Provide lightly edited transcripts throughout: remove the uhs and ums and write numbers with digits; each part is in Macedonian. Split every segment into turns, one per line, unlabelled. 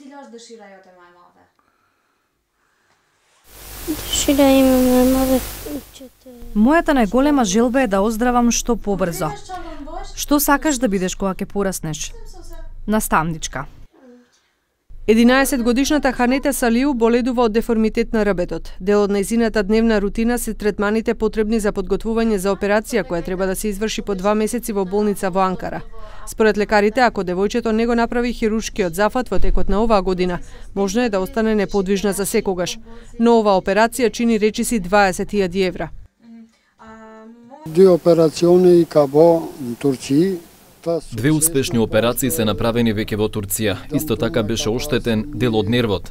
Cilash dëshira jote më e madhe?
Dëshira ime më e madhe që të...
Мојата најголема желба е да оздравам што побрзо. Што сакаш да бидеш кога ќе пораснеш? Наставничка.
11-годишната Ханета Салиу боледува од деформитет на рбетот. Дел од нејзината дневна рутина се третманите потребни за подготвување за операција која треба да се изврши по 2 месеци во болница во Анкара. Според лекарите, ако девојчето не го направи хируршкиот зафат во текот на оваа година, можно е да остане неподвижна за секогаш. Но оваа операција чини речиси 20.000 евра.
Две операциони во Турција.
Две успешни операции се направени веќе во Турција. Исто така беше оштетен дел од нервот.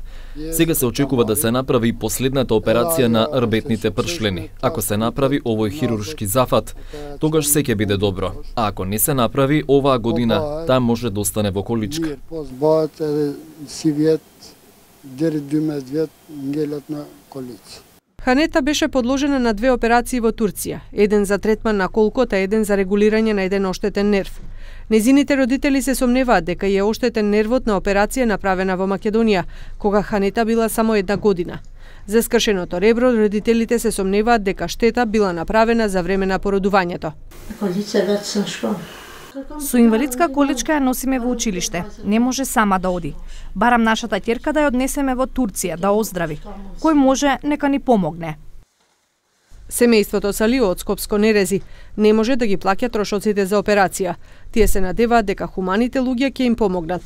Сега се очекува да се направи и последната операција на рбетните пршлени. Ако се направи овој хируршки зафат, тогаш се ќе биде добро. А ако не се направи оваа година, таа може да остане во количка.
Ханета беше подложена на 2 операции во Турција, еден за третман на колкот, а еден за регулирање на еден оштетен нерв. Незините родители се сомневаат дека е оштетен нервот на операција направена во Македонија, кога Ханета била само 1 година. За скршеното ребро, родителите се сомневаат дека штета била направена за време на породувањето.
Со инвалидска количка ја носиме во училиште. Не може сама да оди. Барам нашата ќерка да ја однесеме во Турција, да оздрави. Кој може, нека ни помогне.
Семејството Салиу од Скопско Нерези не може да ги плаќа трошоците за операција. Тие се надеваат дека хуманите луѓе ќе им помогнат.